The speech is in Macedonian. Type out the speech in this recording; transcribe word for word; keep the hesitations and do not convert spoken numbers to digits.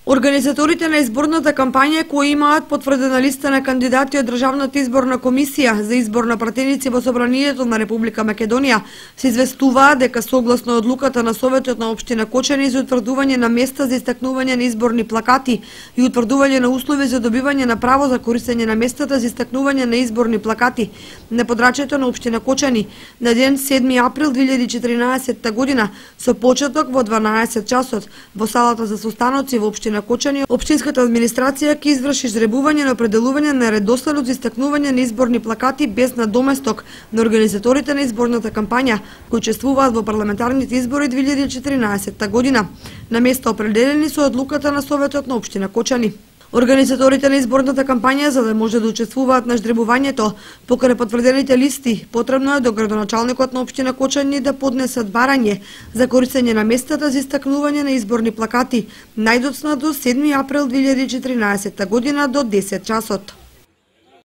Организаторите на изборната кампања кои имаат потврдена листа на кандидати од Државната изборна комисија за избор на пратеници во Собранието на Република Македонија се известуваат дека согласно одлуката на Советот на општина Кочани за утврдување на места за истакнување на изборни плакати и утврдување на услови за добивање на право за користење на местата за истакнување на изборни плакати на подрачјето на општина Кочани на ден седми април две илјади и четиринаесетта година со почеток во дванаесет часот во салата за состаноци во општина Кочани, општинската администрација ќе изврши жребување на определување на редоследот за истакнување на изборни плакати без надоместок на организаторите на изборната кампања кои учествуваат во парламентарните избори две илјади и четиринаесетта година, на места определени со одлуката на Советот на општина Кочани. Организаторите на изборната кампања, за да може да учествуваат на ждребувањето покрај потврдените листи, потребно е до градоначалникот на општина Кочани да поднесат барање за користење на местата за истакнување на изборни плакати најдоцна до седми април две илјади и четиринаесетта година до десет часот.